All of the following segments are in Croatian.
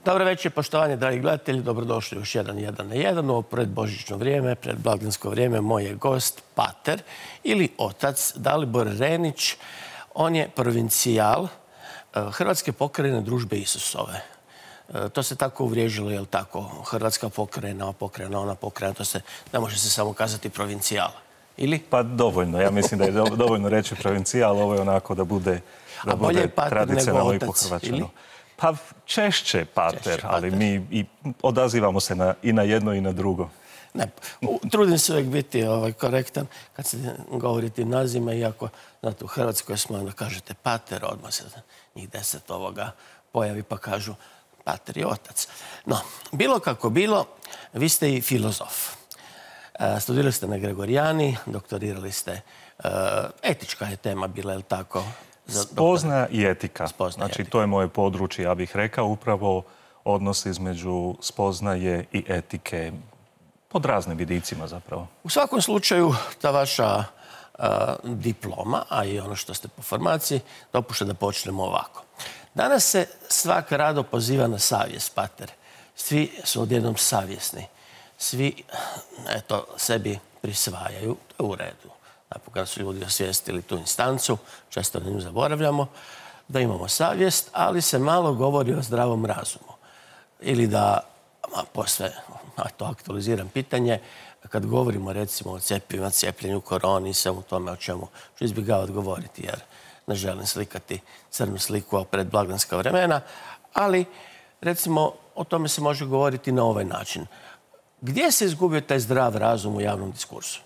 Dobro večer, poštovanje, dragi gledatelji. Dobrodošli u još jedan na jedan. Ovo predbožićno vrijeme, predblagdansko vrijeme. Moj je gost, pater ili otac Dalibor Renić. On je provincijal Hrvatske pokrajine Družbe Isusove. To se tako uvriježilo, je li tako? Hrvatska pokrajina, ona pokrajina, to se ne može se samo kazati provincijal. Ili? Pa dovoljno. Ja mislim da je dovoljno reći provincijal. Ovo je onako da bude tradicionalno i pohrvaćeno. Pa češće pater, ali mi i odazivamo se i na jedno i na drugo. Ne, trudim se uvijek biti korektan kad se govori tim nazivima, iako znate, u Hrvatskoj smo da kažete pater, odmah se njih 10 pojavi pa kažu pater i otac. No, bilo kako bilo, vi ste i filozof. Studirali ste na Gregorijani, doktorirali ste, etička je tema bila, je li tako? Spoznaja i etika. Znači, to je moje područje, ja bih rekao, upravo odnos između spoznaje i etike pod raznim vidicima zapravo. U svakom slučaju, ta vaša diploma, a i ono što ste po formaciji, dopušta da počnemo ovako. Danas se svak rado poziva na savjest, pater. Svi su odjednom savjesni. Svi, eto, sebi prisvajaju, to je u redu. Kada su ljudi osvijestili tu instancu, često na nju zaboravljamo, da imamo savjest, ali se malo govori o zdravom razumu. Ili da, posve, to aktualiziram pitanje, kad govorimo recimo o cjepivima, cijepljenju, koroni, svemu tome o čemu ću izbjegavati govoriti, jer ne želim slikati crnu sliku pred blagdanska vremena, ali recimo o tome se može govoriti na ovaj način. Gdje se izgubio taj zdrav razum u javnom diskursu?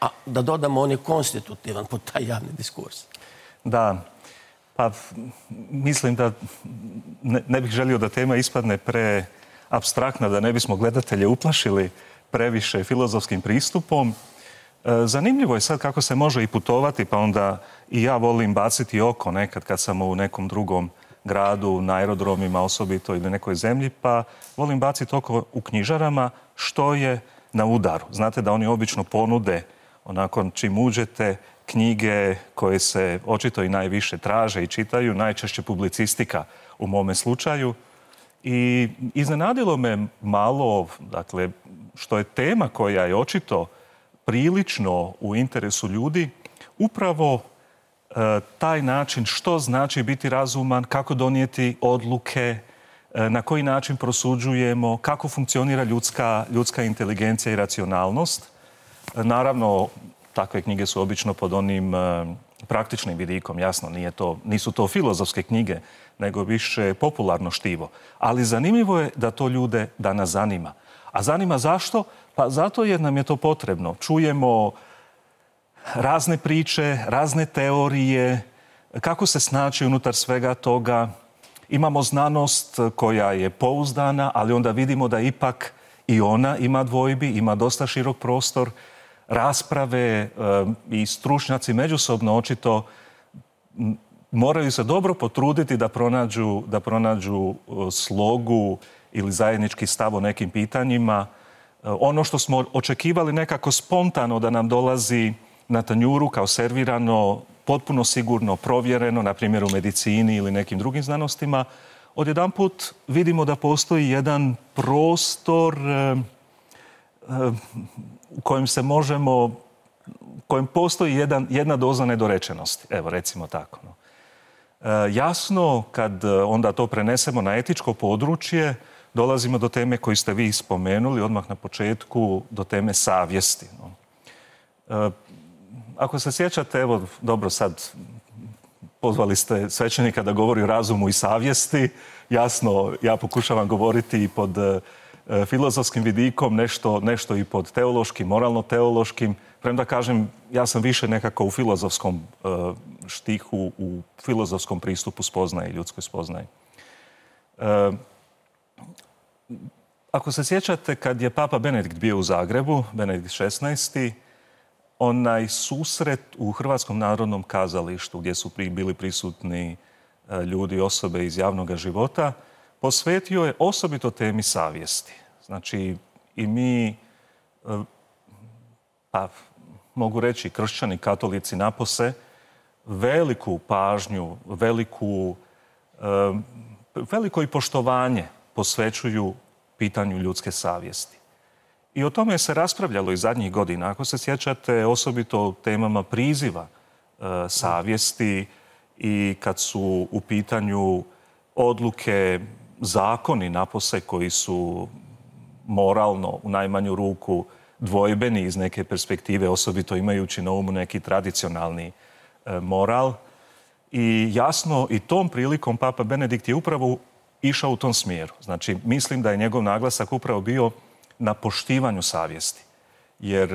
A da dodamo, on je konstitutivan pod taj javni diskurs. Da, pa mislim da ne bih želio da tema ispadne preapstraktna, da ne bismo gledatelje uplašili previše filozofskim pristupom. Zanimljivo je sad kako se može i putovati, pa onda i ja volim baciti oko nekad kad sam u nekom drugom gradu, na aerodromima osobito ili nekoj zemlji, pa volim baciti oko u knjižarama što je na udaru. Znate da oni obično ponude, onako čim uđete, knjige koje se očito i najviše traže i čitaju, najčešće publicistika u mome slučaju. I iznenadilo me malo, dakle, što je tema koja je očito prilično u interesu ljudi, upravo taj način što znači biti razuman, kako donijeti odluke, na koji način prosuđujemo, kako funkcionira ljudska inteligencija i racionalnost. Naravno, takve knjige su obično pod onim praktičnim vidikom, jasno, nisu to filozofske knjige, nego više popularno štivo. Ali zanimljivo je da to ljude danas zanima. A zanima zašto? Pa zato jer nam je to potrebno. Čujemo razne priče, razne teorije, kako se snaći unutar svega toga. Imamo znanost koja je pouzdana, ali onda vidimo da ipak i ona ima dvojbi, ima dosta širok prostor. Rasprave i stručnjaci međusobno očito moraju se dobro potruditi da pronađu slogu ili zajednički stav o nekim pitanjima. Ono što smo očekivali nekako spontano da nam dolazi na tanjuru kao servirano, potpuno sigurno, provjereno, na primjer u medicini ili nekim drugim znanostima, odjedanput vidimo da postoji jedan prostor u kojem se možemo, u kojem postoji jedna doza nedorečenosti. Evo, recimo tako. Jasno, kad onda to prenesemo na etičko područje, dolazimo do teme koju ste vi spomenuli odmah na početku, do teme savjesti. Ako se sjećate, evo, dobro, sad pozvali ste svećenika da govori o razumu i savjesti. Jasno, ja pokušavam govoriti i pod filozofskim vidikom, nešto i pod teološkim, moralno-teološkim. Premda kažem, ja sam više nekako u filozofskom štihu, u filozofskom pristupu spoznaje, ljudskoj spoznaji. Ako se sjećate, kad je Papa Benedikt bio u Zagrebu, Benedikt XVI, onaj susret u Hrvatskom narodnom kazalištu, gdje su bili prisutni ljudi, osobe iz javnog života, posvetio je osobito temi savjesti. Znači, i mi, pa mogu reći kršćani, katolici napose, veliku pažnju, veliko i poštovanje posvećuju pitanju ljudske savjesti. I o tome se raspravljalo i zadnjih godina. Ako se sjećate, osobito o temama priziva savjesti i kad su u pitanju odluke, zakoni napose koji su moralno u najmanju ruku dvojbeni iz neke perspektive, osobito imajući na umu neki tradicionalni moral. I jasno, i tom prilikom Papa Benedikt je upravo išao u tom smjeru. Znači, mislim da je njegov naglasak upravo bio na poštivanju savjesti. Jer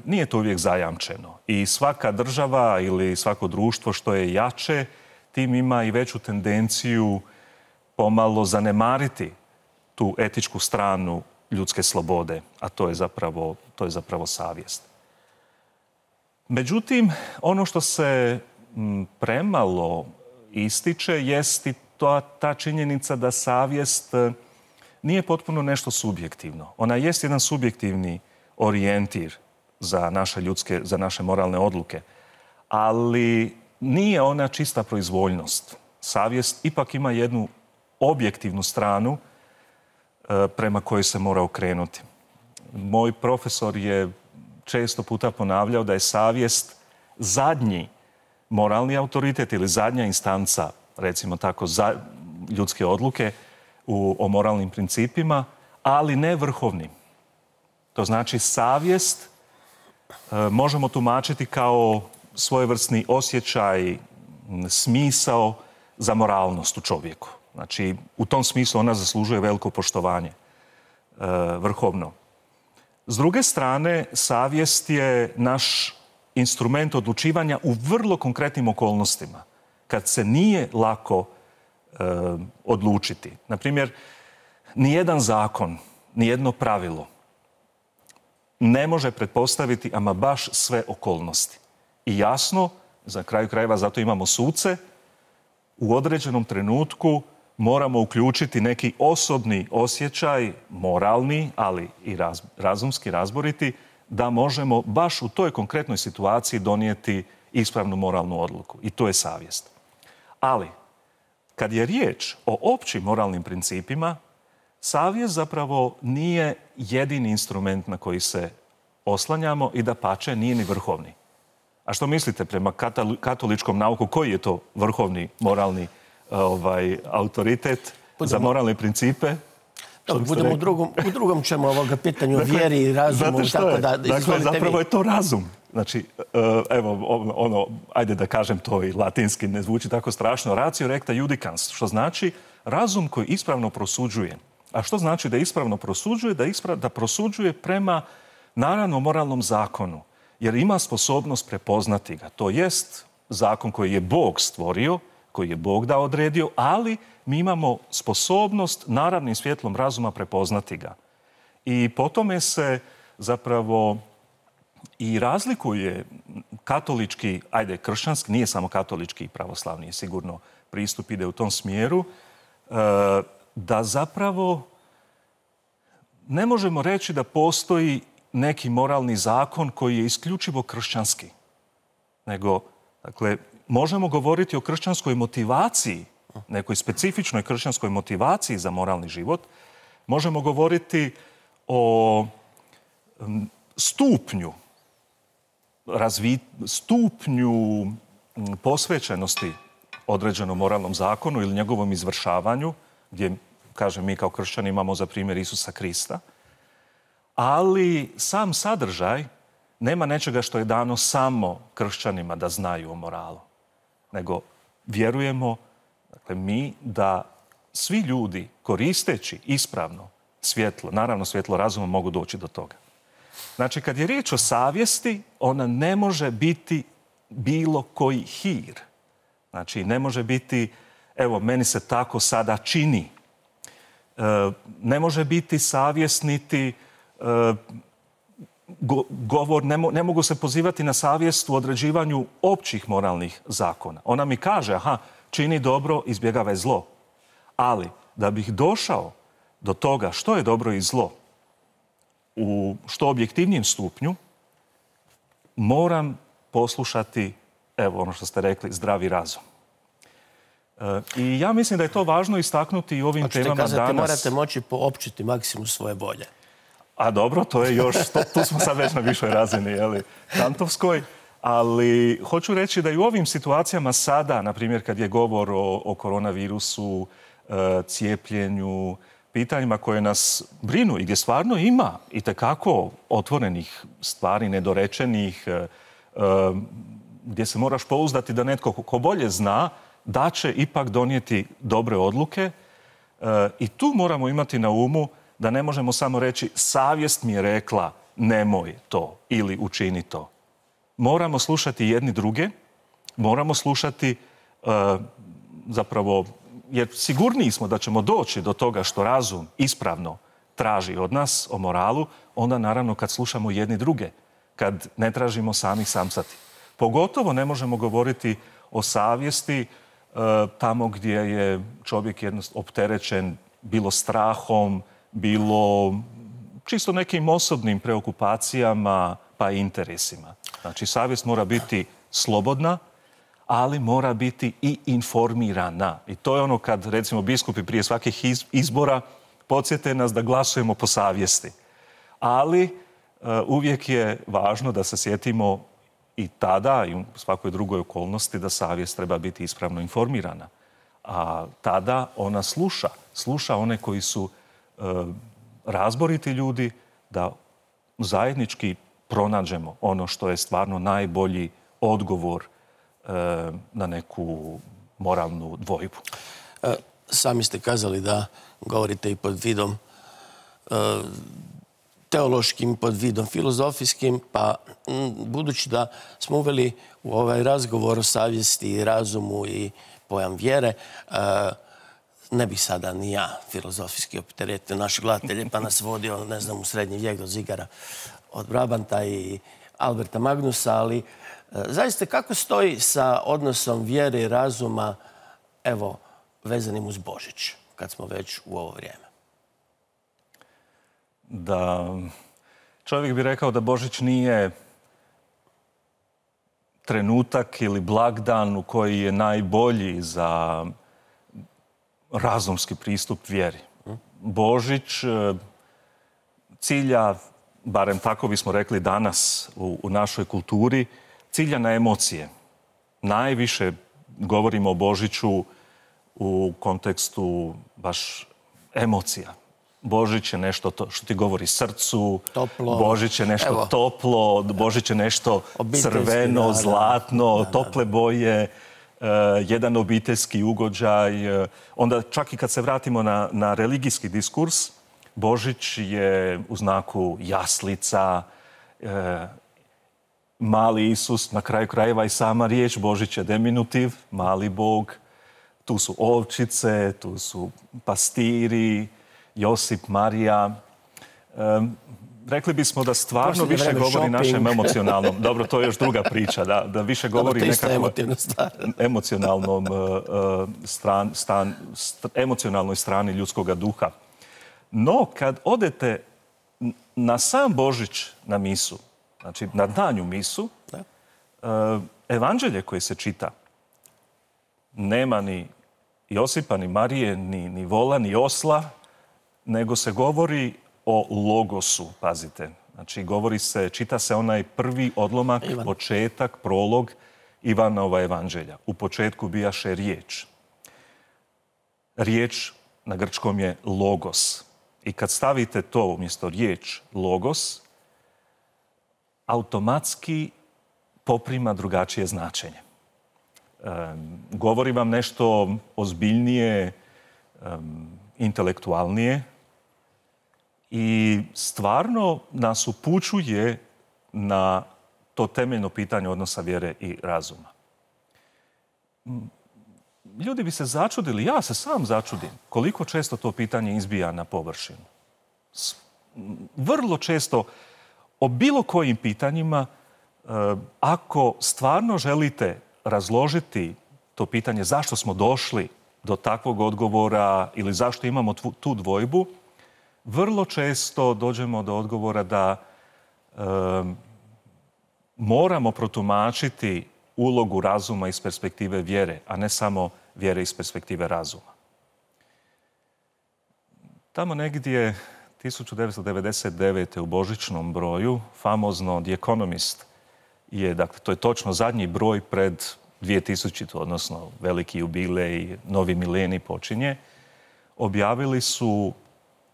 nije to uvijek zajamčeno. I svaka država ili svako društvo što je jače, tim ima i veću tendenciju pomalo zanemariti tu etičku stranu ljudske slobode, a to je zapravo savjest. Međutim, ono što se premalo ističe jest i ta činjenica da savjest nije potpuno nešto subjektivno. Ona jest jedan subjektivni orijentir za naše moralne odluke, ali nije ona čista proizvoljnost. Savjest ipak ima jednu objektivnu stranu prema kojoj se mora okrenuti. Moj profesor je često puta ponavljao da je savjest zadnji moralni autoritet ili zadnja instanca, recimo tako, za ljudske odluke o moralnim principima, ali ne vrhovni. To znači savjest možemo tumačiti kao svojevrsni osjećaj, smisao za moralnost u čovjeku. Znači, u tom smislu ona zaslužuje veliko poštovanje, vrhovno. S druge strane, savjest je naš instrument odlučivanja u vrlo konkretnim okolnostima, kad se nije lako odlučiti. Naprimjer, nijedan zakon, nijedno pravilo ne može pretpostaviti ama baš sve okolnosti. I jasno, za kraju krajeva zato imamo suce, u određenom trenutku moramo uključiti neki osobni osjećaj, moralni, ali i razumski, razboriti, da možemo baš u toj konkretnoj situaciji donijeti ispravnu moralnu odluku. I to je savjest. Ali, kad je riječ o općim moralnim principima, savjest zapravo nije jedini instrument na koji se oslanjamo i dapače nije ni vrhovni. A što mislite, prema katoličkom nauku, koji je to vrhovni moralni autoritet za moralne principe? Budemo u drugom ćemo ovoga pitanju o vjeri i razumu. Dakle, zapravo je to razum. Znači, evo, ajde da kažem to i latinski, ne zvuči tako strašno, ratio recta judicans, što znači razum koji ispravno prosuđuje. A što znači da ispravno prosuđuje? Da prosuđuje prema, naravno, moralnom zakonu. Jer ima sposobnost prepoznati ga. To jest zakon koji je Bog stvorio, koji je Bog da odredio, ali mi imamo sposobnost naravnim svjetlom razuma prepoznati ga. I po tome se zapravo i razlikuje katolički, ajde kršćanski, nije samo katolički i pravoslavni, sigurno pristup ide u tom smjeru, da zapravo ne možemo reći da postoji neki moralni zakon koji je isključivo kršćanski. Nego, dakle, možemo govoriti o kršćanskoj motivaciji, nekoj specifičnoj kršćanskoj motivaciji za moralni život. Možemo govoriti o stupnju posvećenosti određenom moralnom zakonu ili njegovom izvršavanju, gdje, kažem, mi kao kršćani imamo za primjer Isusa Krista. Ali sam sadržaj nema nečega što je dano samo kršćanima da znaju o moralu. Nego vjerujemo, dakle, mi da svi ljudi koristeći ispravno svjetlo, naravno svjetlo razuma, mogu doći do toga. Znači, kad je riječ o savjesti, ona ne može biti bilo koji hir. Znači, ne može biti, evo, meni se tako sada čini. Ne može biti savjest niti govor, ne mogu se pozivati na savjest u određivanju općih moralnih zakona. Ona mi kaže, čini dobro, izbjegavaj zlo. Ali, da bih došao do toga što je dobro i zlo u što objektivnijem stupnju, moram poslušati, evo ono što ste rekli, zdravi razum. I ja mislim da je to važno istaknuti i ovim temama danas. Hoćete kazati, morate moći poopćiti maksimum svoje volje. A dobro, to je još, tu smo sad već na višoj razini, kantovskoj. Ali hoću reći da i u ovim situacijama sada, na primjer kad je govor o koronavirusu, cijepljenju, pitanjima koje nas brinu i gdje stvarno ima itekako otvorenih stvari, nedorečenih, gdje se moraš pouzdati da netko ko bolje zna da će ipak donijeti dobre odluke. I tu moramo imati na umu da ne možemo samo reći savjest mi je rekla nemoj to ili učini to. Moramo slušati jedni druge, moramo slušati zapravo, jer sigurniji smo da ćemo doći do toga što razum ispravno traži od nas o moralu, onda naravno kad slušamo jedni druge, kad ne tražimo sami samsati. Pogotovo ne možemo govoriti o savjesti tamo gdje je čovjek opterećen bilo strahom, bilo čisto nekim osobnim preokupacijama pa i interesima. Znači, savjest mora biti slobodna, ali mora biti i informirana. I to je ono kad, recimo, biskupi prije svakih izbora podsjete nas da glasujemo po savjesti. Ali uvijek je važno da se sjetimo i tada i u svakoj drugoj okolnosti da savjest treba biti ispravno informirana. A tada ona sluša one koji su razboriti ljudi, da zajednički pronađemo ono što je stvarno najbolji odgovor na neku moralnu dvojbu. Sami ste kazali da govorite i pod vidom teološkim, pod vidom filozofijskim, pa budući da smo uveli u ovaj razgovor o savjesti i razumu i pojam vjere, ne bih sada ni ja filozofijski opteretio naše gledatelje, pa nas vodio, ne znam, u srednji vijek do Zigara od Brabanta i Alberta Magnusa, ali zaista kako stoji sa odnosom vjere i razuma, evo, vezanim uz Božić, kad smo već u ovo vrijeme? Da, čovjek bi rekao da Božić nije trenutak ili blagdan u koji je najbolji za razumski pristup vjeri. Božić cilja, barem tako bismo rekli danas u našoj kulturi, cilja na emocije. Najviše govorimo o Božiću u kontekstu baš emocija. Božić je nešto što ti govori srcu, toplo. Božić je nešto toplo, Božić je nešto crveno, zlatno, tople boje, jedan obiteljski ugođaj. Onda čak i kad se vratimo na religijski diskurs, Božić je u znaku jaslica, mali Isus, na kraju krajeva i sama riječ Božić je deminutiv, mali Bog. Tu su ovčice, tu su pastiri, Josip, Marija. Rekli bismo da stvarno više govori našem emocionalnom... Dobro, to je još druga priča, da više govori nekako emocionalnoj strani ljudskog duha. No, kad odete na sam Božić na misu, znači na danju misu, evanđelje koje se čita, nema ni Josipa, ni Marije, ni vola, ni osla, nego se govori o logosu, pazite. Znači, čita se onaj prvi odlomak, početak, prolog Ivanova evanđelja. U početku bijaše riječ. Riječ na grčkom je logos. I kad stavite to umjesto riječ logos, automatski poprima drugačije značenje. Govori vam nešto ozbiljnije, intelektualnije i stvarno nas upućuje na to temeljno pitanje odnosa vjere i razuma. Ljudi bi se začudili, ja se sam začudim, koliko često to pitanje izbija na površinu. Vrlo često o bilo kojim pitanjima, ako stvarno želite razložiti to pitanje zašto smo došli do takvog odgovora ili zašto imamo tu dvojbu, vrlo često dođemo do odgovora da moramo protumačiti ulogu razuma iz perspektive vjere, a ne samo vjere iz perspektive razuma. Tamo negdje 1999. u božićnom broju, famozno The Economist je, dakle, to je točno zadnji broj pred 2000, odnosno veliki jubilej, novi milenij počinje, objavili su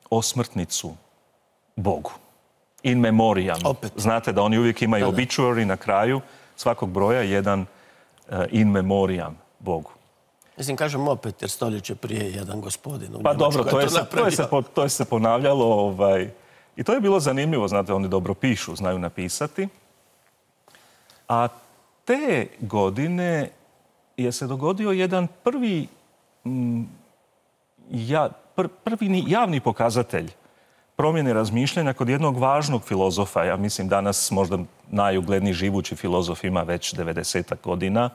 osmrtnicu Bogu. In memoriam. Opet. Znate da oni uvijek imaju obituary na kraju svakog broja, jedan in memoriam Bogu. Mislim, kažem opet, jer stoljeće prije jedan gospodin u Pa Njemačkoj dobro, to je se ponavljalo. I to je bilo zanimljivo, znate, oni dobro pišu, znaju napisati. A te godine je se dogodio jedan prvi javni pokazatelj promjene razmišljanja kod jednog važnog filozofa. Ja mislim danas možda najugledniji živući filozof ima već 90 godina.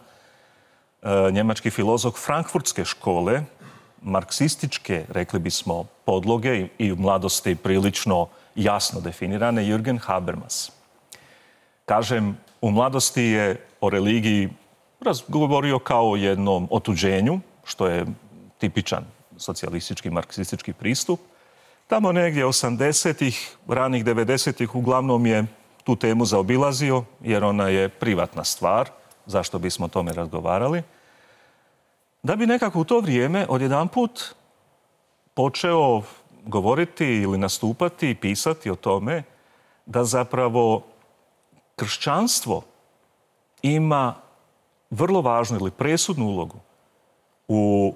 Njemački filozof frankfurtske škole, marksističke, rekli bismo, podloge i u mladosti prilično jasno definirane, Jürgen Habermas. Kažem, u mladosti je o religiji govorio kao o jednom otuđenju, što je tipičan socijalistički, marksistički pristup. Tamo negdje 80-ih, ranih 90-ih uglavnom je tu temu zaobilazio, jer ona je privatna stvar, zašto bismo o tome razgovarali. Da bi nekako u to vrijeme odjedanput počeo govoriti ili nastupati i pisati o tome da zapravo kršćanstvo ima vrlo važnu ili presudnu ulogu u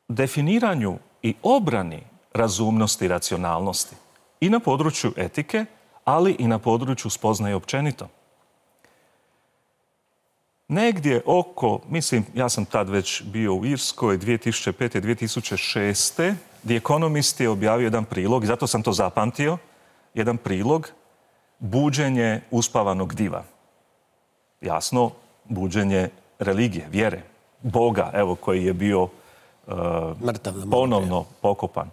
definiranju i obrani razumnosti i racionalnosti i na području etike, ali i na području spoznaje općenito. Negdje oko, mislim, ja sam tad već bio u Irskoj 2005. 2006. The Economist je objavio jedan prilog, i zato sam to zapamtio, jedan prilog buđenje uspavanog diva. Jasno, buđenje religije, vjere, Boga, evo, koji je bio ponovno pokopan.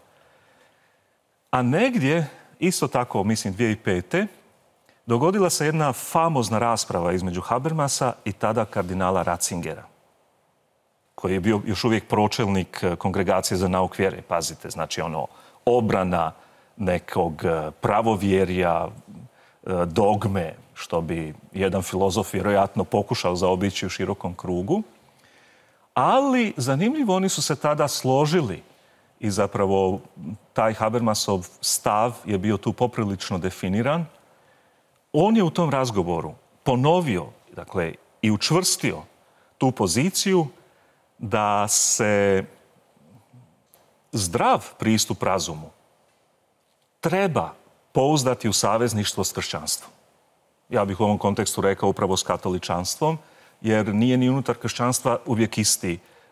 A negdje, isto tako, mislim, 2005. dogodila se jedna famozna rasprava između Habermasa i tada kardinala Ratzingera, koji je bio još uvijek pročelnik Kongregacije za nauk vjere. Pazite, znači obrana nekog pravovjerja, dogme, što bi jedan filozof vjerojatno pokušao zaobići u širokom krugu. Ali, zanimljivo, oni su se tada složili i zapravo taj Habermasov stav je bio tu poprilično definiran. On je u tom razgovoru ponovio, dakle, i učvrstio tu poziciju da se zdrav pristup razumu treba pouzdati u savezništvo s kršćanstvom. Ja bih u ovom kontekstu rekao upravo s katoličanstvom, jer nije ni unutar kršćanstva uvijek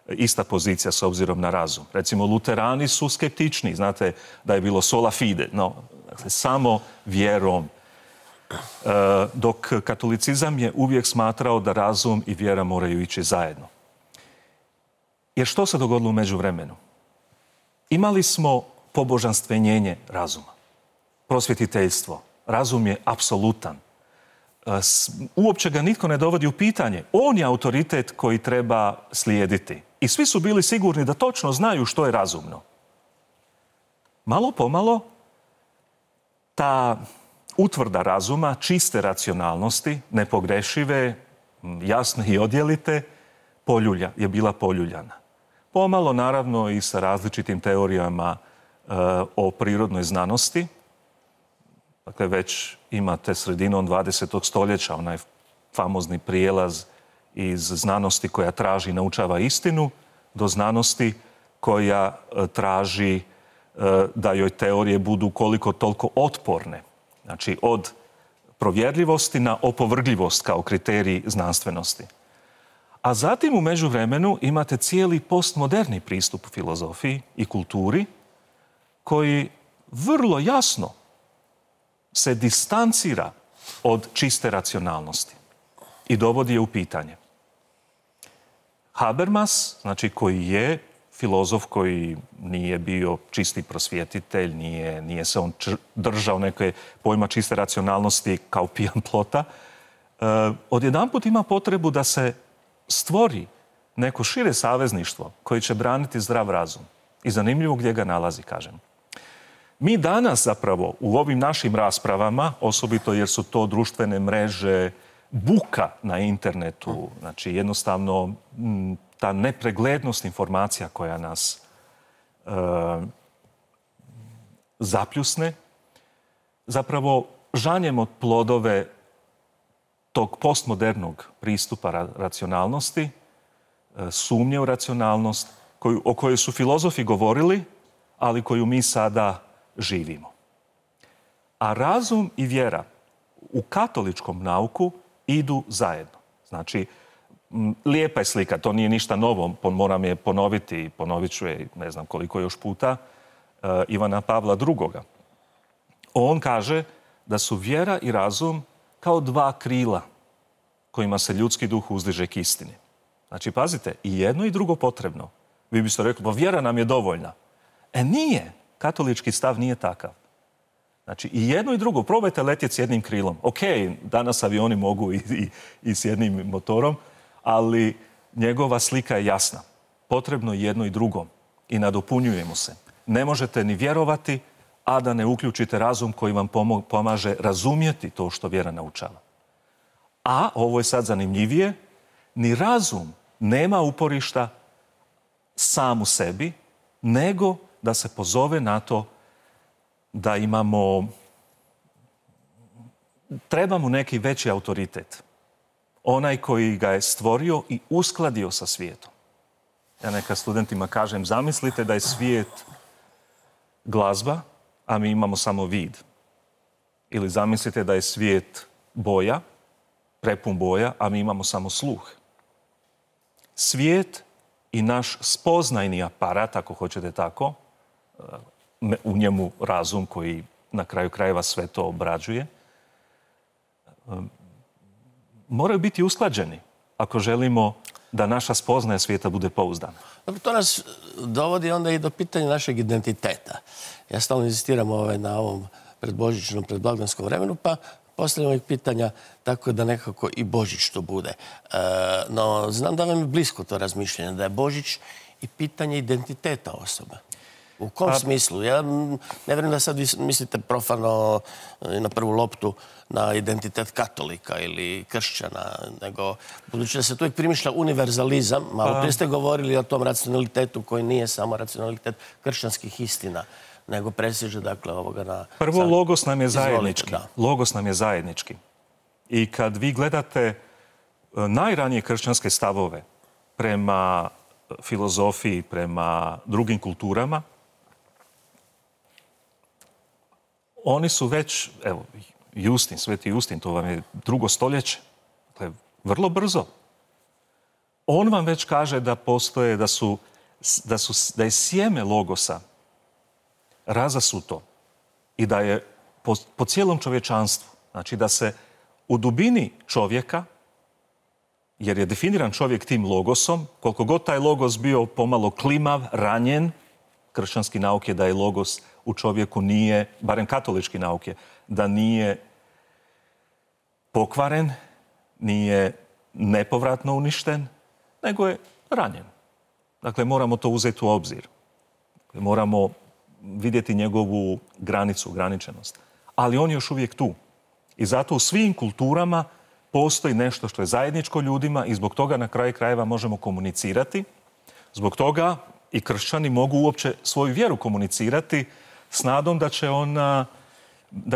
ista pozicija s obzirom na razum. Recimo, luterani su skeptični, znate da je bilo sola fide, dakle, samo vjerom. Dok katolicizam je uvijek smatrao da razum i vjera moraju ići zajedno. Jer što se dogodilo u međuvremenu? Imali smo pobožanstvenjenje razuma, prosvjetiteljstvo. Razum je apsolutan. Uopće ga nitko ne dovodi u pitanje. On je autoritet koji treba slijediti. I svi su bili sigurni da točno znaju što je razumno. Malo pomalo ta utvrda razuma, čiste racionalnosti, nepogrešive, jasne i odjelite, je bila poljuljana. Pomalo, naravno, i sa različitim teorijama o prirodnoj znanosti. Dakle, već imate sredinom 20. stoljeća onaj famozni prijelaz iz znanosti koja traži i naučava istinu do znanosti koja traži da joj teorije budu koliko toliko otporne. Znači, od provjerljivosti na opovrgljivost kao kriterij znanstvenosti. A zatim u međuvremenu imate cijeli postmoderni pristup u filozofiji i kulturi koji vrlo jasno se distancira od čiste racionalnosti i dovodi je u pitanje. Habermas, znači, koji je filozof koji nije bio čisti prosvjetitelj, nije se on držao neke pojma čiste racionalnosti kao pijan plota, odjedanput ima potrebu da se stvori neko šire savezništvo koje će braniti zdrav razum. I zanimljivo gdje ga nalazi, kažem. Mi danas zapravo u ovim našim raspravama, osobito jer su to društvene mreže, buka na internetu, znači jednostavno ta nepreglednost informacija koja nas zapljusne, zapravo žanjemo plodove tog postmodernog pristupa racionalnosti, sumnje u racionalnost, o kojoj su filozofi govorili, ali koju mi sada živimo. A razum i vjera u katoličkom nauku idu zajedno. Znači, lijepa je slika, to nije ništa novo, moram je ponoviti i ponovit ću je ne znam koliko još puta, Ivana Pavla II. On kaže da su vjera i razum kao dva krila kojima se ljudski duh uzdiže k istini. Znači, pazite, i jedno i drugo potrebno. Vi biste rekli, pa vjera nam je dovoljna. Nije. Katolički stav nije takav. Znači, i jedno i drugo. Probajte letjeti s jednim krilom. Ok, danas avioni mogu i s jednim motorom, ali njegova slika je jasna. Potrebno je jedno i drugo. I nadopunjujemo se. Ne možete ni vjerovati, a da ne uključite razum koji vam pomaže razumjeti to što vjera naučava. A, ovo je sad zanimljivije, ni razum nema uporišta sam u sebi, nego da se pozove na to da trebamo neki veći autoritet. Onaj koji ga je stvorio i uskladio sa svijetom. Ja neka studentima kažem, zamislite da je svijet glazba, a mi imamo samo vid. Ili zamislite da je svijet boja, prepun boja, a mi imamo samo sluh. Svijet i naš spoznajni aparat, ako hoćete tako, u njemu razum koji na kraju krajeva sve to obrađuje, moraju biti usklađeni ako želimo da naša spoznaja svijeta bude pouzdana. To nas dovodi onda i do pitanja našeg identiteta. Ja stalno inzistiram na ovom predbožićnom, predblagdanskom vremenu, pa postavljamo ih pitanja tako da nekako i Božić to bude. No, znam da vam je blisko to razmišljanje, da je Božić i pitanje identiteta osobe. U kom smislu? Ja ne vjerujem da sad vi mislite profano na prvu loptu na identitet katolika ili kršćana, nego budući da se tu uvijek primišlja univerzalizam, malo prije ste govorili o tom racionalitetu koji nije samo racionalitet kršćanskih istina, nego presježe dakle ovoga na... Prvo, logos nam je zajednički. Logos nam je zajednički. I kad vi gledate najranije kršćanske stavove prema filozofiji, prema drugim kulturama, oni su već, evo, Justin, Sveti Justin, to vam je 2. stoljeće, dakle, vrlo brzo. On vam već kaže da postoje, da je sjeme logosa razasuto i da je po cijelom čovječanstvu, znači da se u dubini čovjeka, jer je definiran čovjek tim logosom, koliko god taj logos bio pomalo klimav, ranjen, kršćanski nauk je da je logos u čovjeku nije, barem katolički nauk je, da nije pokvaren, nije nepovratno uništen, nego je ranjen. Dakle, moramo to uzeti u obzir. Moramo vidjeti njegovu granicu, ograničenost. Ali on je još uvijek tu. I zato u svim kulturama postoji nešto što je zajedničko ljudima i zbog toga na kraju krajeva možemo komunicirati. Zbog toga i kršćani mogu uopće svoju vjeru komunicirati s nadom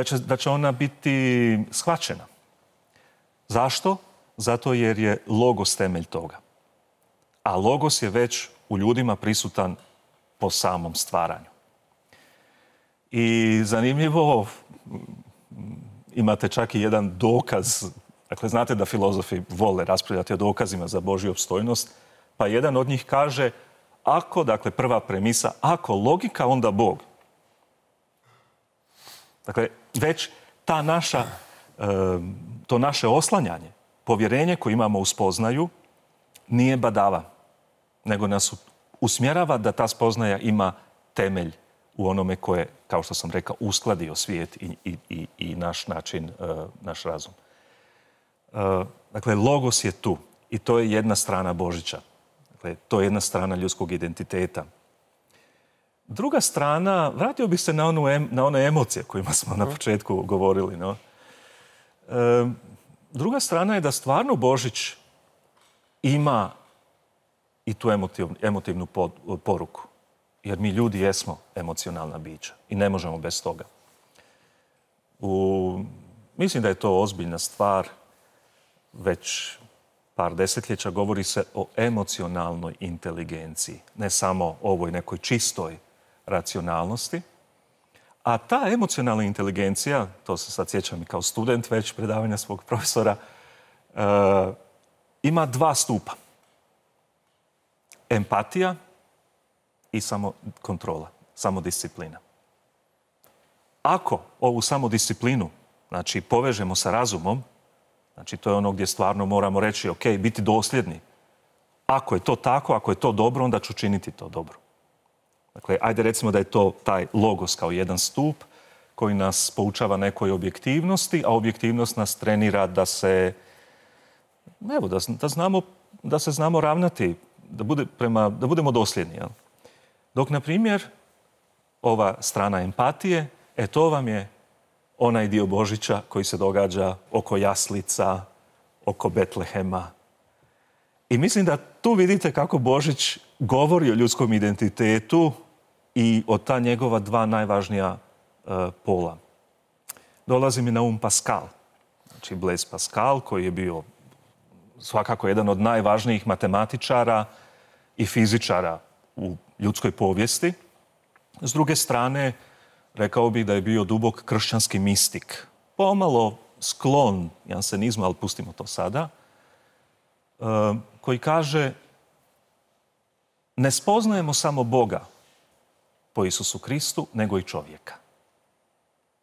da će ona biti shvaćena. Zašto? Zato jer je logos temelj toga. A logos je već u ljudima prisutan po samom stvaranju. I zanimljivo, imate čak i jedan dokaz, dakle znate da filozofi vole raspravljati o dokazima za Božju opstojnost, pa jedan od njih kaže, ako, dakle prva premisa, ako logika, onda Bog. Dakle, već to naše oslanjanje, povjerenje koje imamo u spoznaju, nije badava, nego nas usmjerava da ta spoznaja ima temelj u onome koje, kao što sam rekao, uskladio svijet i naš način, naš razum. Dakle, logos je tu i to je jedna strana Božića. Dakle, to je jedna strana ljudskog identiteta. Druga strana, vratio bih se na one emocije kojima smo na početku govorili. No? Druga strana je da stvarno Božić ima i tu emotivnu poruku. Jer mi ljudi jesmo emocionalna bića i ne možemo bez toga. Mislim da je to ozbiljna stvar. Već par desetljeća govori se o emocionalnoj inteligenciji. Ne samo o ovoj nekoj čistoj racionalnosti. A ta emocionalna inteligencija, to se sad sjećam i kao student već predavanja svog profesora, ima dva stupa. Empatija i samokontrola, samodisciplina. Ako ovu samodisciplinu, znači, povežemo sa razumom, znači, to je ono gdje stvarno moramo reći, ok, biti dosljedni. Ako je to tako, ako je to dobro, onda ću činiti to dobro. Dakle, ajde recimo da je to taj logos kao jedan stup koji nas poučava nekoj objektivnosti, a objektivnost nas trenira da se, evo, da se znamo ravnati, da budemo dosljedni. Jel? Dok, na primjer, ova strana empatije, to vam je onaj dio Božića koji se događa oko jaslica, oko Betlehema. I mislim da tu vidite kako Božić govori o ljudskom identitetu i o ta njegova dva najvažnija pola. Dolazi mi na Pascal. Znači Blaise Pascal, koji je bio svakako jedan od najvažnijih matematičara i fizičara u ljudskoj povijesti. S druge strane, rekao bih da je bio dubok kršćanski mistik. Pomalo sklon jansenizmu, ali pustimo to sada, koji kaže: ne spoznajemo samo Boga po Isusu Kristu, nego i čovjeka.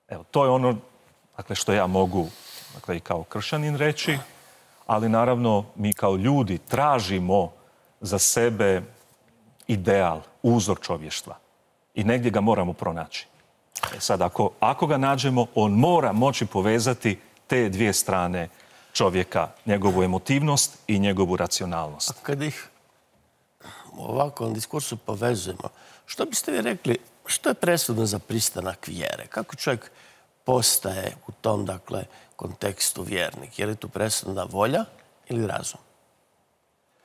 Evo, to je ono, dakle, što ja mogu, dakle, i kao kršćanin reći, ali naravno mi kao ljudi tražimo za sebe ideal, uzor čovještva. I negdje ga moramo pronaći. Sad, ako ga nađemo, on mora moći povezati te dvije strane čovjeka, njegovu emotivnost i njegovu racionalnost. A kad ih u ovakvom diskursu povezujemo, što biste vi rekli, što je presudno za pristanak vjere? Kako čovjek postaje u tom, dakle, kontekstu vjernik? Je li tu presudna volja ili razum?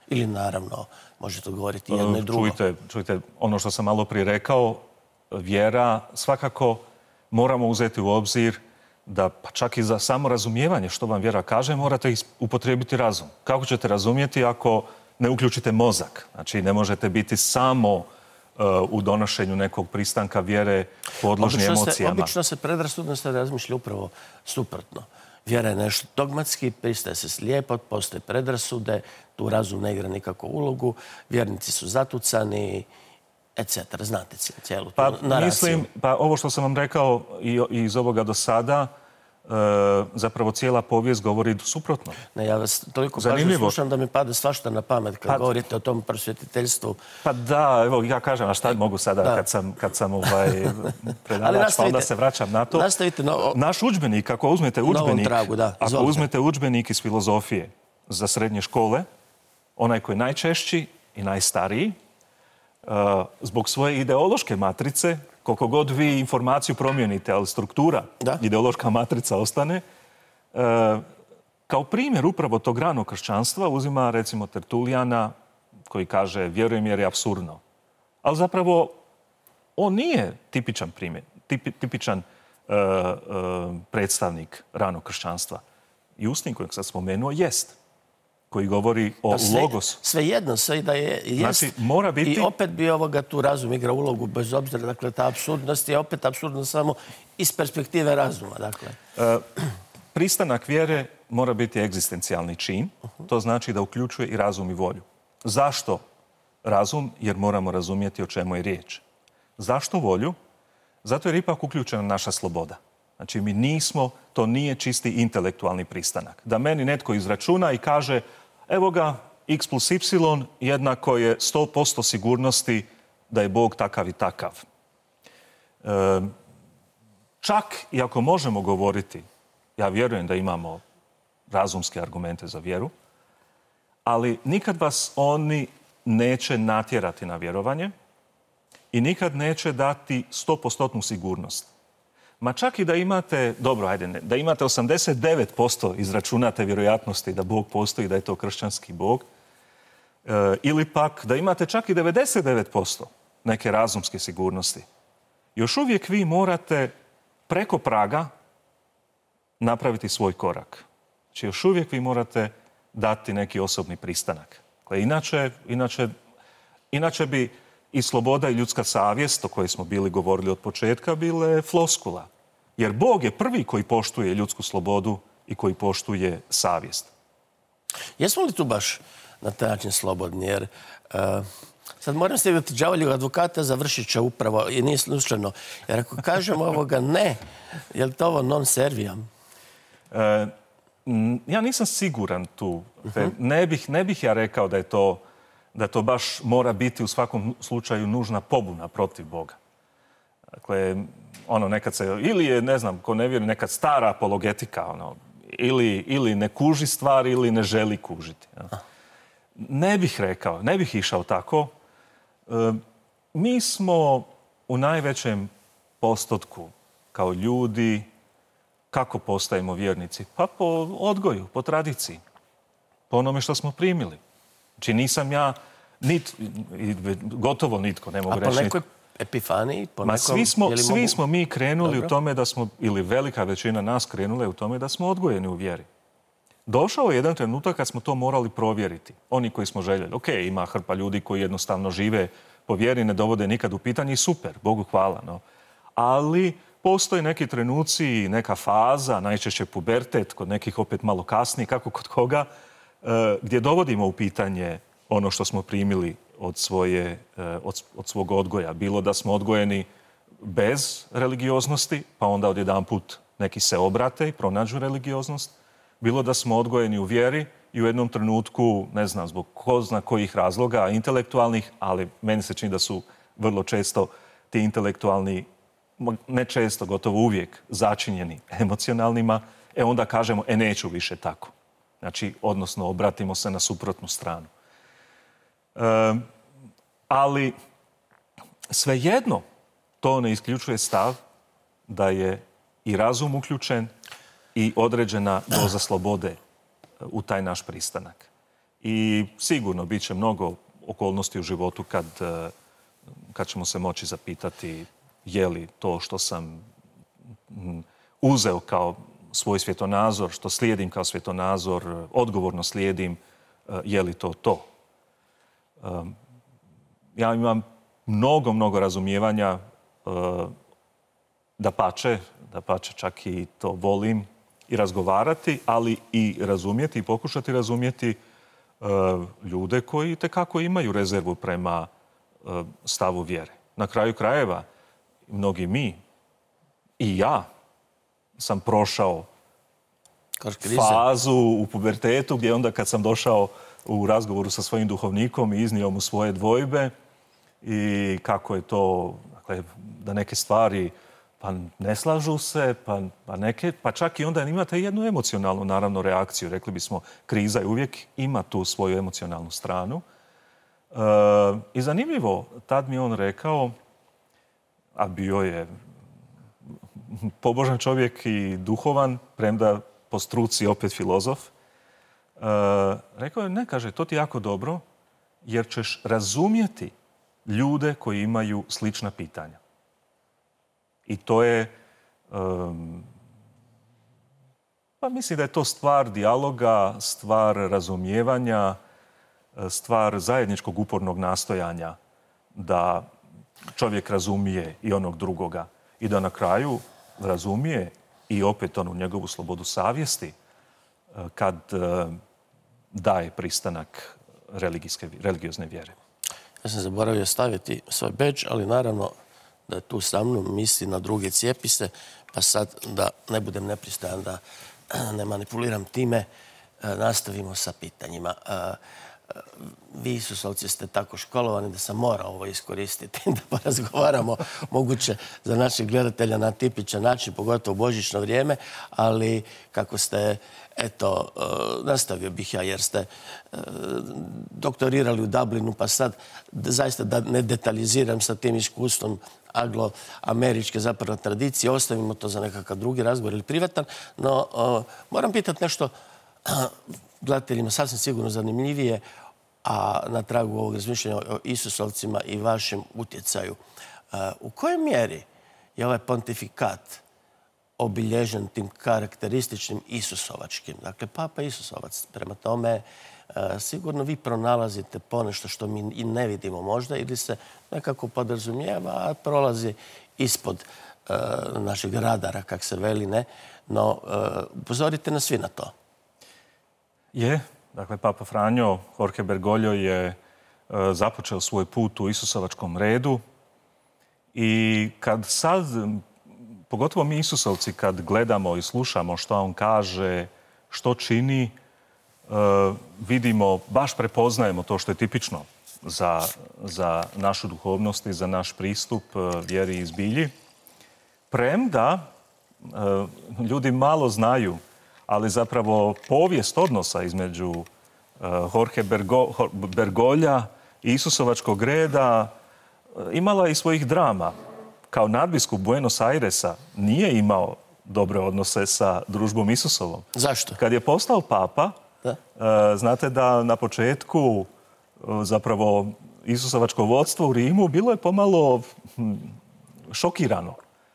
Ili, naravno, možete govoriti jedno i drugo? Čujte, ono što sam malo prije rekao, vjera svakako moramo uzeti u obzir da pa čak i za samo razumijevanje što vam vjera kaže morate upotrijebiti razum. Kako ćete razumjeti ako ne uključite mozak? Znači, ne možete biti samo u donošenju nekog pristanka vjere podložni emocijama. Obično se predrasudnost razmišlja upravo suprotno. Vjera je nešto dogmatski, pristaje se slijepo, postoje predrasude, tu razum ne igra nikakvu ulogu, vjernici su zatucani, etc. Znate cijelu tu naraciju. Mislim, ovo što sam vam rekao i iz ovoga do sada, zapravo cijela povijest govori suprotno. Ne, ja vas toliko pažnje slušam da mi pada svašta na pamet kad govorite o tom prosvjetiteljstvu. Pa da, evo, ja kažem, a šta mogu sada kad sam predavač, pa onda se vraćam na to. Naš udžbenik, ako uzmete udžbenik iz filozofije za srednje škole, onaj koji je najčešći i najstariji, zbog svoje ideološke matrice, koliko god vi informaciju promijenite, ali struktura, ideološka matrica ostane, kao primjer upravo tog ranog kršćanstva uzima, recimo, Tertulijana, koji kaže vjerujem jer je apsurdno. Ali zapravo on nije tipičan primjer, tipičan predstavnik ranog kršćanstva. Justin, kojeg sam spomenuo, jest. Koji govori o logosu. Svejedno, sve da je jest. Znači, mora biti... I opet bi tu razum igra ulogu, bez obzira, dakle, ta apsurdnost je opet apsurdna samo iz perspektive razuma, dakle. Pristanak vjere mora biti egzistencijalni čin. To znači da uključuje i razum i volju. Zašto razum? Jer moramo razumjeti o čemu je riječ. Zašto volju? Zato jer ipak uključena naša sloboda. Znači, mi nismo, to nije čisti intelektualni pristanak. Da meni netko izračuna i kaže, evo ga, x plus y jednako je 100% sigurnosti da je Bog takav i takav. Čak i ako možemo govoriti, ja vjerujem da imamo razumske argumente za vjeru, ali nikad vas oni neće natjerati na vjerovanje i nikad neće dati 100% sigurnost. Ma čak i da imate, dobro, ajde, da imate 89% izračunate vjerojatnosti da Bog postoji, da je to kršćanski Bog, ili pak da imate čak i 99% neke razumske sigurnosti, još uvijek vi morate preko praga napraviti svoj korak. Znači, još uvijek vi morate dati neki osobni pristanak. Dakle, inače bi i sloboda i ljudska savjest, o kojoj smo bili govorili od početka, bile floskula. Jer Bog je prvi koji poštuje ljudsku slobodu i koji poštuje savjest. Jesmo li tu baš na taj način slobodni? Jer sad moram staviti đavoljeg advokata za Vršića upravo i nije slučajno. Jer ako kažemo ovoga ne, je li to ovo non serviam? Ja nisam siguran tu. Ne bih ja rekao da to baš mora biti u svakom slučaju nužna pobuna protiv Boga. Dakle, nekad se, ili je, ne znam, ko ne vjeruje, nekad stara apologetika, ili ne kuži stvar ili ne želi kužiti. Ne bih rekao, ne bih išao tako. Mi smo u najvećem postotku kao ljudi, kako postajemo vjernici? Pa po odgoju, po tradiciji, po onome što smo primili. Znači nisam ja, gotovo nitko, ne mogu reći. A po nekoj epifaniji? Svi smo mi krenuli u tome da smo, ili velika većina nas krenule u tome da smo odgojeni u vjeri. Došao je jedan trenutak kad smo to morali provjeriti. Oni koji smo željeli. Ok, ima hrpa ljudi koji jednostavno žive po vjeri, ne dovode nikad u pitanje i super, Bogu hvala. No. Ali postoje neki trenuci, neka faza, najčešće pubertet, kod nekih opet malo kasnije, kako kod koga, gdje dovodimo u pitanje ono što smo primili od svog odgoja. Bilo da smo odgojeni bez religioznosti, pa onda odjedanput neki se obrate i pronađu religioznost. Bilo da smo odgojeni u vjeri i u jednom trenutku, ne znam, zbog ko zna kojih razloga, intelektualnih, ali meni se čini da su vrlo često ti intelektualni, ne često, gotovo uvijek, začinjeni emocionalnima, onda kažemo, neću više tako. Znači, odnosno, obratimo se na suprotnu stranu. Ali svejedno to ne isključuje stav da je i razum uključen i određena doza slobode u taj naš pristanak. I sigurno bit će mnogo okolnosti u životu kad ćemo se moći zapitati je li to što sam uzeo kao svoj svjetonazor, što slijedim kao svjetonazor, odgovorno slijedim, je li to to. Ja imam mnogo razumijevanja, dapače čak i to volim i razgovarati, ali i razumjeti i pokušati razumjeti ljude koji itekako imaju rezervu prema stavu vjere. Na kraju krajeva, mnogi mi i ja sam prošao fazu u pubertetu gdje onda kad sam došao u razgovoru sa svojim duhovnikom i iznio mu svoje dvojbe i kako je to, dakle, da neke stvari pa ne slažu se, pa čak i onda imate jednu emocionalnu, naravno, reakciju. Rekli bismo, kriza je uvijek ima tu svoju emocionalnu stranu. I zanimljivo, tad mi on rekao, a bio je pobožan čovjek i duhovan, premda po struci opet filozof, rekao je, ne, kaže, to ti je jako dobro, jer ćeš razumjeti ljude koji imaju slična pitanja. I to je, pa mislim da je to stvar dijaloga, stvar razumijevanja, stvar zajedničkog upornog nastojanja da čovjek razumije i onog drugoga i da na kraju razumije i opet onu njegovu slobodu savjesti kad daje pristanak religiozne vjere. Ja sam zaboravio staviti svoj bedž, ali naravno da je tu sa mnom, misli na druge, cijepi se, pa sad da ne budem nepristojan, da ne manipuliram time, nastavimo sa pitanjima. vi Isusovci ste tako školovani da sam morao ovo iskoristiti, da porazgovaramo moguće za naših gledatelja na tipičan način, pogotovo u božićno vrijeme, ali kako ste, eto, nastavio bih ja jer ste doktorirali u Dublinu, pa sad zaista da ne detaljiziram sa tim iskustvom anglo-američke zapravo tradicije, ostavimo to za nekakav drugi razgovor ili privatan, no moram pitati nešto gledateljima sasvim sigurno zanimljivije, a na tragu ovog razmišljanja o Isusovcima i vašem utjecaju. U kojoj mjeri je ovaj pontifikat obilježen tim karakterističnim Isusovačkim? Dakle, Papa Isusovac. Prema tome, sigurno vi pronalazite ponešto što mi i ne vidimo možda ili se nekako podrazumijeva, a prolazi ispod našeg radara, kak se veli, ne? No, upozorite nas svi na to. Je. Dakle, Papa Franjo Jorge Bergoglio je započeo svoj put u Isusovačkom redu i kad sad, pogotovo mi Isusovci, kad gledamo i slušamo što on kaže, što čini, vidimo, baš prepoznajemo to što je tipično za našu duhovnost i za naš pristup vjeri i zbilji. premda ljudi malo znaju, ali zapravo povijest odnosa između Jorge Bergoglja i Isusovačkog reda imala i svojih drama. Kao nadbiskup Buenos Airesa nije imao dobre odnose sa družbom Isusovom. Zašto? Kad je postao papa, znate da na početku zapravo Isusovačko vodstvo u Rimu bilo je pomalo šokirano.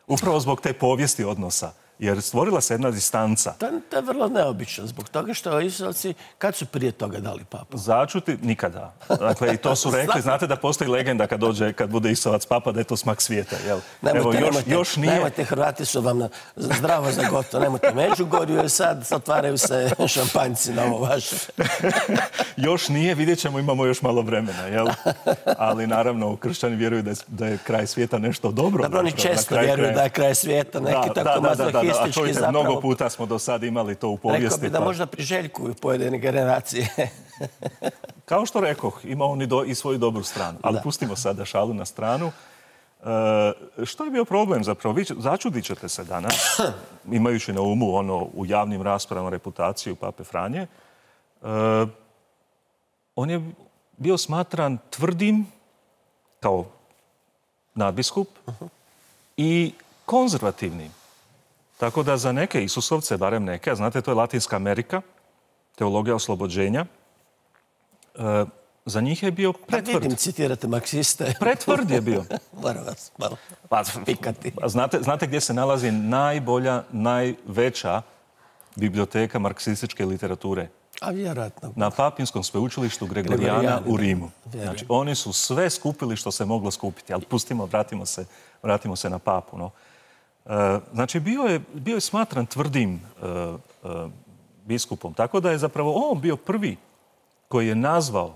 Upravo zbog te povijesti odnosa. Jer stvorila se jedna distanca. To je vrlo neobično. Zbog toga što Isusovci, kad su prije toga dali papu? Začuti? Nikada. Dakle, i to su rekli. Znate da postoji legenda kad bude Isusovac papa, da je to smak svijeta. Jel? Nemojte, Hrvati su vam zdravo za gotovo. Nemojte Međugorju, jer sad otvaraju se šampanjci na ovo vaše. Još nije, vidjet ćemo, imamo još malo vremena. Jel? Ali naravno, kršćani vjeruju da je kraj svijeta nešto dobro. Dobro, oni često vjeruju da je kraj svijeta neki tako mazohistički zapravo. Mnogo puta smo do sad imali to u povijesti. Rekao bi da možda priželjkuju pojedine generacije. Kao što rekoh, ima on i svoju dobru stranu. Ali pustimo sada šalu na stranu. Što je bio problem zapravo? Začudit ćete se danas, imajući na umu u javnim raspravama reputaciju Pape Franje. On je bio smatran tvrdim kao nadbiskup i konzervativnim. Tako da za neke Isusovce, barem neke, a znate, to je Latinska Amerika, teologija oslobođenja, za njih je bio pretvrd. Pa vidim, citirate marksiste. Pretvrd je bio. Moram vas malo pikati. Znate gdje se nalazi najbolja, najveća biblioteka marksističke literature? A vjerojatno. Na Papinskom sveučilištu Gregorijana u Rimu. Znači, oni su sve skupili što se moglo skupiti. Ali pustimo, vratimo se na papu. No. Znači, bio je smatran tvrdim biskupom. Tako da je zapravo on bio prvi koji je nazvao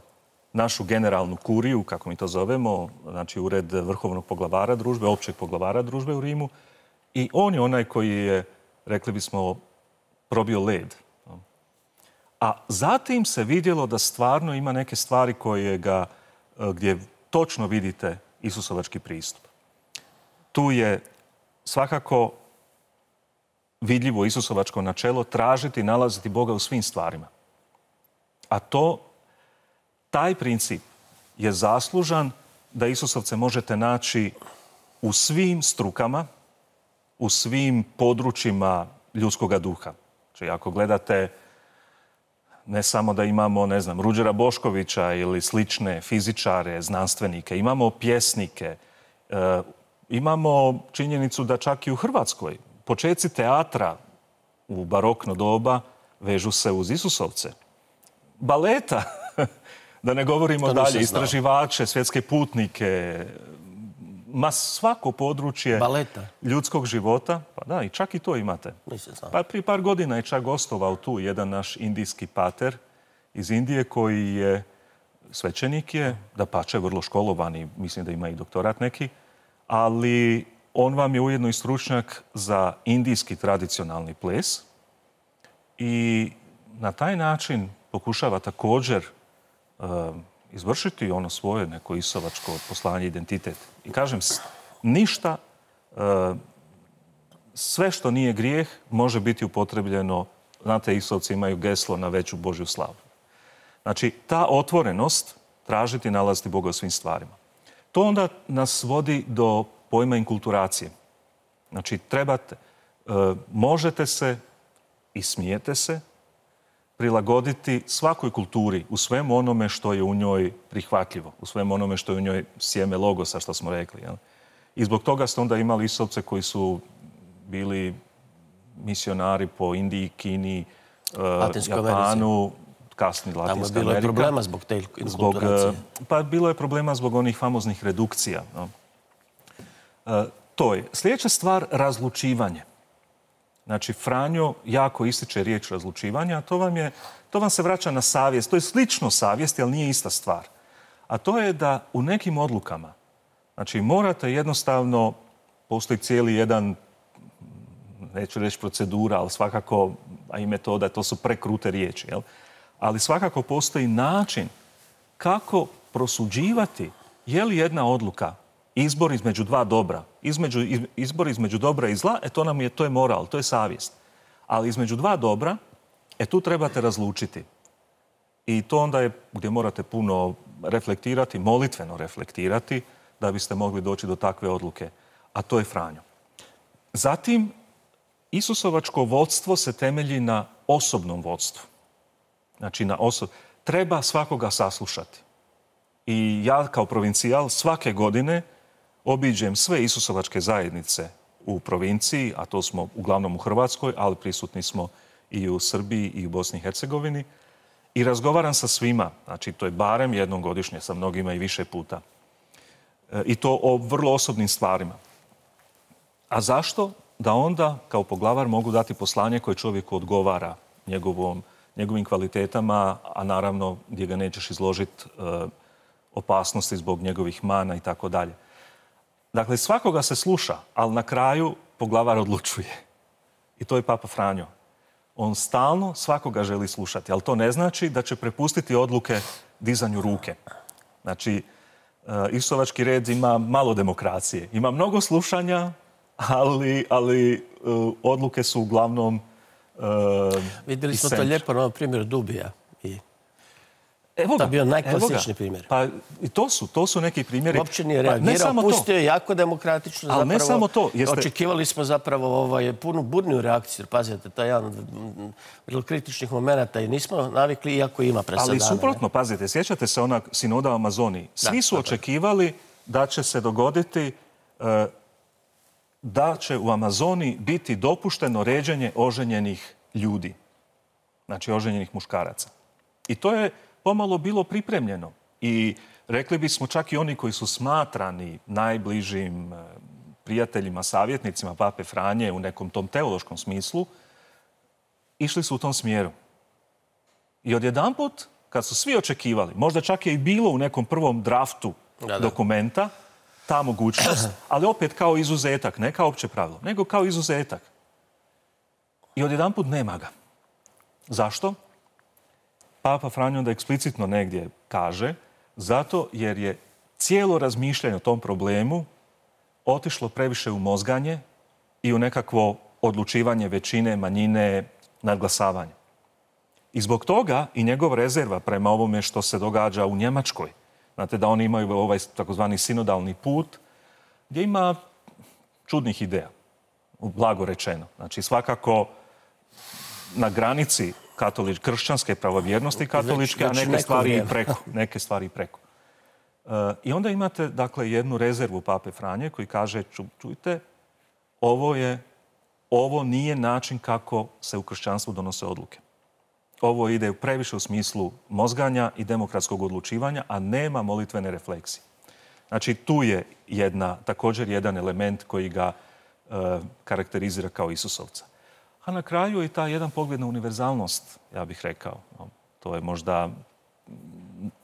našu generalnu kuriju, kako mi to zovemo, znači ured vrhovnog poglavara družbe, općeg poglavara družbe u Rimu. I on je onaj koji je, rekli bismo, probio led. A zatim se vidjelo da stvarno ima neke stvari gdje točno vidite Isusovački pristup. Tu je svakako vidljivo Isusovačko načelo tražiti i nalaziti Boga u svim stvarima. A taj princip je zaslužan da Isusovce možete naći u svim strukama, u svim područjima ljudskog duha. Znači, ako gledate ne samo da imamo, ne znam, Ruđera Boškovića ili slične fizičare, znanstvenike, imamo pjesnike, imamo činjenicu da čak i u Hrvatskoj počeci teatra u barokno doba vežu se uz Isusovce. Baleta, da ne govorimo dalje, istraživače, svjetske putnike, svako područje ljudskog života. Pa da, i čak i to imate. Pa prije par godina je čak gostovao tu jedan naš indijski pater iz Indije koji je svećenik je, dapače vrlo školovan i mislim da ima i doktorat neki, ali on vam je ujedno i stručnjak za indijski tradicionalni ples. I na taj način pokušava također izvršiti ono svoje neko isovačko poslanje, identitet. I kažem, ništa, sve što nije grijeh može biti upotrebljeno. Znate, isovci imaju geslo na veću Božju slavu. Znači, ta otvorenost tražiti i nalaziti Boga u svim stvarima. To onda nas vodi do pojma inkulturacije. Znači, možete se i smijete se prilagoditi svakoj kulturi u svemu onome što je u njoj prihvatljivo, u svemu onome što je u njoj sjeme logosa, što smo rekli. Jel? I zbog toga ste onda imali isovce koji su bili misionari po Indiji, Kini, Japanu, kasni Latinska Amerika. Tamo je bilo problema zbog te inkulturacije. Pa bilo je problema zbog onih famoznih redukcija. No. To je. Sljedeća stvar, razlučivanje. Znači, Franjo jako ističe riječ razlučivanja, a to vam se vraća na savjest. To je slično savjesti, ali nije ista stvar. A to je da u nekim odlukama, znači, morate jednostavno, postoji cijeli jedan, neću reći procedura, ali svakako, a i metoda, to su prekrute riječi, jel? Ali svakako postoji način kako prosuđivati je li jedna odluka izbor između dva dobra, izbor između dobra i zla, to je moral, to je savjest. Ali između dva dobra, tu trebate razlučiti. I to onda je gdje morate puno reflektirati, molitveno reflektirati, da biste mogli doći do takve odluke. A to je Franjo. Zatim, Isusovačko vodstvo se temelji na osobnom vodstvu. Znači, treba svakoga saslušati. I ja kao provincijal svake godine obiđem sve Isusovačke zajednice u provinciji, a to smo uglavnom u Hrvatskoj, ali prisutni smo i u Srbiji i u Bosni i Hercegovini. I razgovaram sa svima, znači to je barem jednom godišnje, sa mnogima i više puta. I to o vrlo osobnim stvarima. A zašto? Da onda kao poglavar mogu dati poslanje koje čovjeku odgovara njegovim kvalitetama, a naravno gdje ga nećeš izložiti opasnosti zbog njegovih mana i tako dalje. Dakle, svakoga se sluša, ali na kraju poglavar odlučuje. I to je Papa Franjo. On stalno svakoga želi slušati, ali to ne znači da će prepustiti odluke dizanju ruke. Znači, Isusovački red ima malo demokracije. Ima mnogo slušanja, ali odluke su uglavnom vidjeli smo to lijepo na ovom primjeru Dubija. To je bio najklasični primjer. Pa i to su neki primjeri. Uopće nije reagirao, pustio je jako demokratično. Ali ne samo to. Očekivali smo zapravo punu burniju reakciju. Pazite, to je jedan od vrlo kritičnih momenata i nismo navikli, iako ima presadana. Ali suprotno, pazite, sjećate se onak sinoda u Amazoniji. Svi su očekivali da će se dogoditi da će u Amazoniji biti dopušteno ređenje oženjenih ljudi. Znači, oženjenih muškaraca. I to je pomalo bilo pripremljeno. I rekli bismo čak i oni koji su smatrani najbližim prijateljima, savjetnicima Pape Franje u nekom tom teološkom smislu, išli su u tom smjeru. I odjedanput, kad su svi očekivali, možda čak je i bilo u nekom prvom draftu dokumenta, ta mogućnost, ali opet kao izuzetak, ne kao opće pravilo, nego kao izuzetak. I odjedanput nema ga. Zašto? Papa Franjo onda eksplicitno negdje kaže, zato jer je cijelo razmišljanje o tom problemu otišlo previše u mozganje i u nekakvo odlučivanje većine, manjine, nadglasavanje. I zbog toga i njegov rezerva prema ovome što se događa u Njemačkoj. Znate da oni imaju ovaj takozvani sinodalni put gdje ima čudnih ideja, blago rečeno. Znači svakako na granici kršćanske pravovjernosti katoličke, a neke stvari i preko. I onda imate, dakle, jednu rezervu Pape Franje koji kaže, čujte, ovo nije način kako se u kršćanstvu donose odluke. Ovo ide previše u smislu mozganja i demokratskog odlučivanja, a nema molitvene refleksije. Znači, tu je također jedan element koji ga karakterizira kao Isusovca. A na kraju je taj jedan pogled na univerzalnost, ja bih rekao. To je možda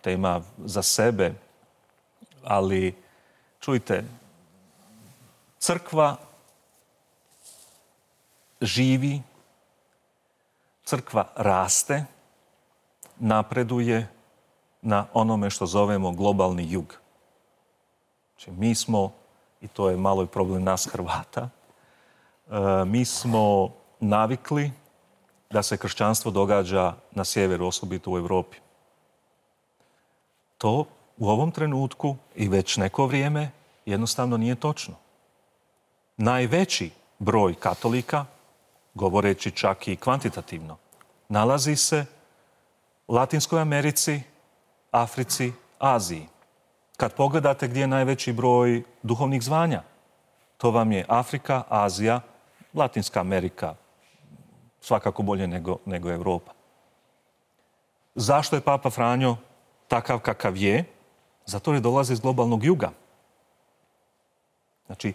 tema za sebe, ali čujte, crkva živi, crkva raste, napreduje na onome što zovemo globalni jug. Znači, mi smo, i to je malo i problem nas Hrvata, mi smo navikli da se kršćanstvo događa na sjeveru, osobito u Europi. To u ovom trenutku i već neko vrijeme jednostavno nije točno. Najveći broj katolika, govoreći čak i kvantitativno, nalazi se u Latinskoj Americi, Africi, Aziji. Kad pogledate gdje je najveći broj duhovnih zvanja, to vam je Afrika, Azija, Latinska Amerika, svakako bolje nego Europa. Zašto je Papa Franjo takav kakav je? Zato jer dolazi iz globalnog juga. Znači,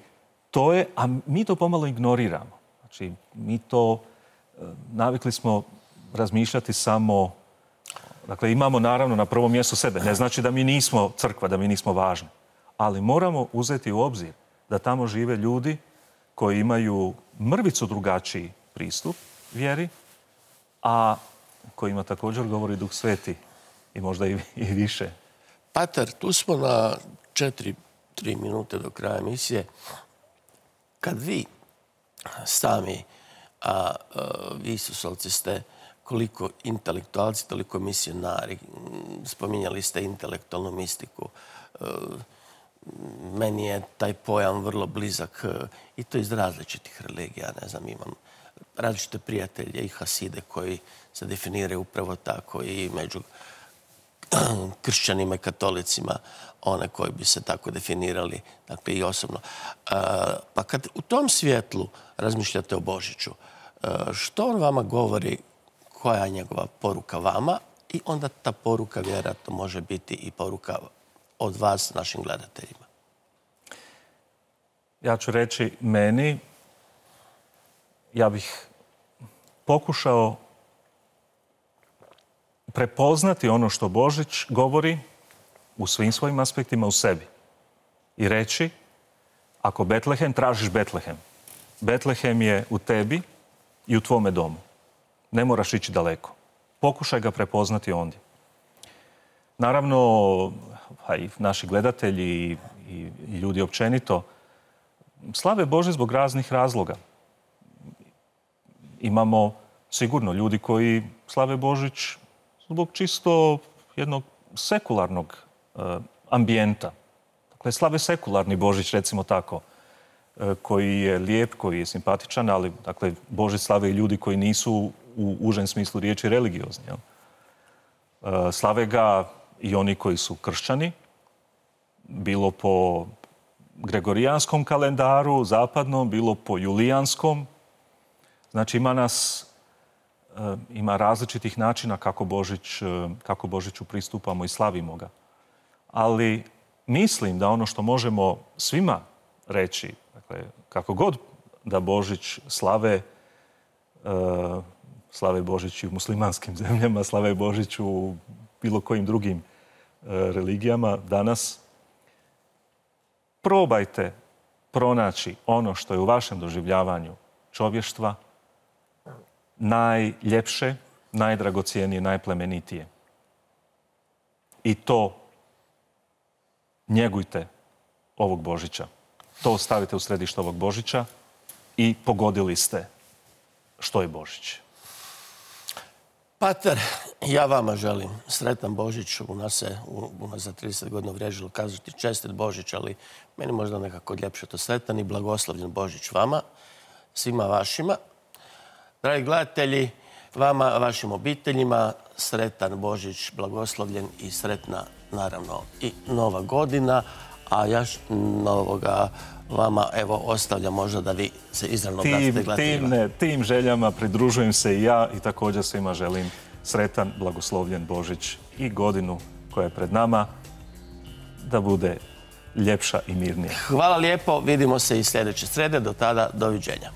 to je, a mi to pomalo ignoriramo. Znači, mi to, navikli smo razmišljati samo, dakle, imamo naravno na prvom mjestu sebe. Ne znači da mi nismo crkva, da mi nismo važni. Ali moramo uzeti u obzir da tamo žive ljudi koji imaju mrvicu drugačiji pristup vjeri, a kojima također govori Duh Sveti i možda i više. Pater, tu smo na 3 minute do kraja emisije. Kad vi sami, a vi Isusovci ste koliko intelektualci, toliko misionari, spominjali ste intelektualnu mistiku, meni je taj pojam vrlo blizak i to iz različitih religija. Ne znam, imam različite prijatelje i haside koji se definiraju upravo tako i među kršćanima i katolicima, one koji bi se tako definirali, dakle i osobno. Pa kad u tom svjetlu razmišljate o Božiću, što on vama govori, koja je njegova poruka vama i onda ta poruka vjerojatno može biti i poruka od vas našim gledateljima? Ja ću reći meni, ja bih pokušao prepoznati ono što Božić govori u svim svojim aspektima u sebi. I reći, ako Betlehem, tražiš Betlehem. Betlehem je u tebi i u tvome domu. Ne moraš ići daleko. Pokušaj ga prepoznati ondje. Naravno, i naši gledatelji i ljudi općenito slave Bože zbog raznih razloga. Imamo sigurno ljudi koji slave Božić zbog čisto jednog sekularnog ambijenta. Dakle, slave sekularni Božić, recimo tako, koji je lijep, koji je simpatičan, ali dakle, Božić slave i ljudi koji nisu u užem smislu riječi religiozni. Slave ga i oni koji su kršćani, bilo po gregorijanskom kalendaru, zapadnom, bilo po julijanskom. Znači, ima različitih načina kako Božiću pristupamo i slavimo ga. Ali mislim da ono što možemo svima reći, dakle, kako god da Božić slave Božić i u muslimanskim zemljama, slave Božić u bilo kojim drugim religijama danas, probajte pronaći ono što je u vašem doživljavanju čovještva najljepše, najdragocijenije, najplemenitije. I to njegujte ovog Božića. To stavite u središte ovog Božića i pogodili ste što je Božić. Pater, ja vama želim sretan Božić. U nas za 30 godina uvriježilo kazati čestit Božić, ali meni možda nekako ljepše to sretan i blagoslovljen Božić vama, svima vašima. Dragi gledatelji, vama, vašim obiteljima, sretan Božić, blagoslovljen i sretna, naravno, i Nova godina. A ja novoga vama, evo, ostavljam možda da vi se izravno obratite gledateljima. Tim željama pridružujem se i ja i također svima želim sretan, blagoslovljen Božić i godinu koja je pred nama da bude ljepša i mirnija. Hvala lijepo, vidimo se i sljedeće srede. Do tada, doviđenja.